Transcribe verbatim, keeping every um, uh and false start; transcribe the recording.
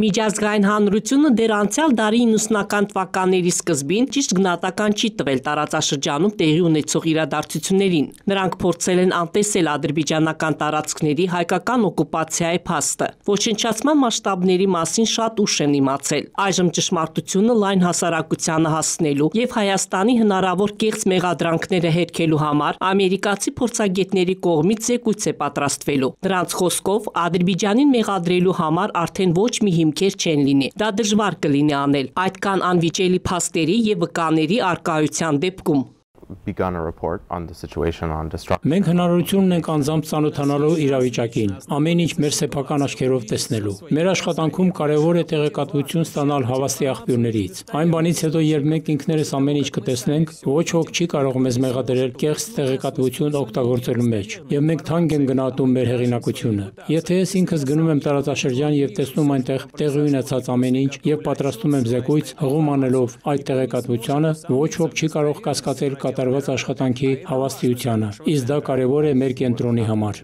Միջազգային հանրությունը դեռ անցյալ դարի իննսունական թվականների սկզբին ճիշտ գնահատական չի տվել տարածաշրջանում տեղի ունեցող իրադարձություններին։ Նրանք փորձել են անտեսել ադրբեջանական տարածքների հայկական օկուպացիայի փաստը։ Ոչնչացման մասշտաբների մասին շատ ուշ են իմացել։ Այժմ ճշմարտությունը լայն հասարակությանը հասցնելու եւ Հայաստանի հնարավոր կեղծ մեղադրանքները հերքելու համար ամերիկացի փորձագետների կողմից զեկույց է պատրաստվելու։ Նրանց խոսքով Ադրբեջանին մեղադրելու համար արդեն ոչ մի հիմքեր չեն լինի։ Դա դժվար կլինի անել այդքան անվիճելի փաստերի եւ վկաների առկայության դեպքում։ Մենք հնարավորություն ունենք անձամբ ծանոթանալու իրավիճակին, ամեն ինչ մեր սեփական աչքերով տեսնելու։ Մեր աշխատանքում կարևոր է տեղեկատվություն ստանալ հավաստի աղբյուրներից։ Այն բանից հետո, երբ մենք ինքներս ամեն ինչ կտեսնենք, ոչ ոք չի կարող մեզ մեղադրել կեղծ տեղեկատվություն օգտագործելու մեջ, եւ մենք թանկ ենք գնահատում մեր հեղինակությունը։ Եթե ես ինքս գնում եմ տարածաշրջան եւ տեսնում այնտեղ տեղի ունեցած ամեն ինչ եւ պատրաստում եմ զեկույց, հղում անելով այդ տեղեկատվությանը, ոչ ոք չի կարող կասկածել կատարված աշխատանքի հավաստիությանը, իսկ դա կարևոր է մեր կենտրոնի համար։